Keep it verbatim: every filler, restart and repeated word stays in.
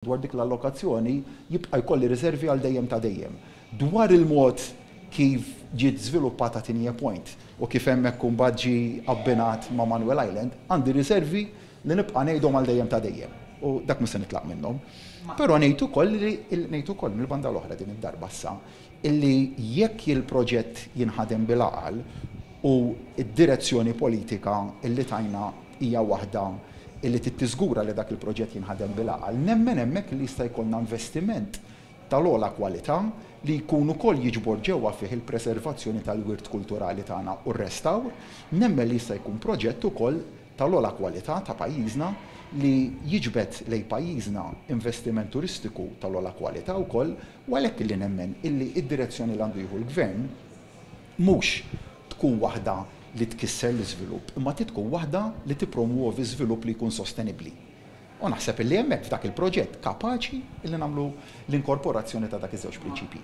Dwar dik l-allokazzjoni jibqa' jkolli riservi għal dejjem ta' dejjem. Dwar il-mod kif ġiet żviluppata Tigné Point u kif hemmhekk imbagħad ġie abbinat ma' Manuel Island, għandi riservi li nibqa' ngħidhom għal dejjem ta' dejjem. U dak mhux se nitlaq minnhom. Però ngħid ukoll li ngħid ukoll mill-banda l-oħra din id-darba issa illi jekk il-proġett jinħadem bil-għaqal u d-direzzjoni politika illi tajna hija waħda illi tiżgura li dak il-proġett jinħadem bil-għaqal, nemmen hemmhekk li jista' jkollna investiment tal-ogħla kwalità li jkun ukoll jiġbor ġewwa fih il-preservazzjoni tal-wirt kulturali tagħna u r-restawr, nemmen li jista' jkun proġett ukoll tal-ogħla kwalità ta' pajjiżna li jiġbed lejn pajjiżna investiment turistiku tal-ogħla kwalità wkoll. U għalhekk li nemmen illi id-direzzjoni li għandu jieħu l-gvern mhux tkun waħda li tkisser l-iżvilupp, imma tkun waħda li tippromuovi żvilupp li jkun sostenibbli. U naħseb illi hemmhekk f'dak il-proġett kapaċi illi nagħmlu l-inkorporazzjoni ta' dak iż-żewġ prinċipji.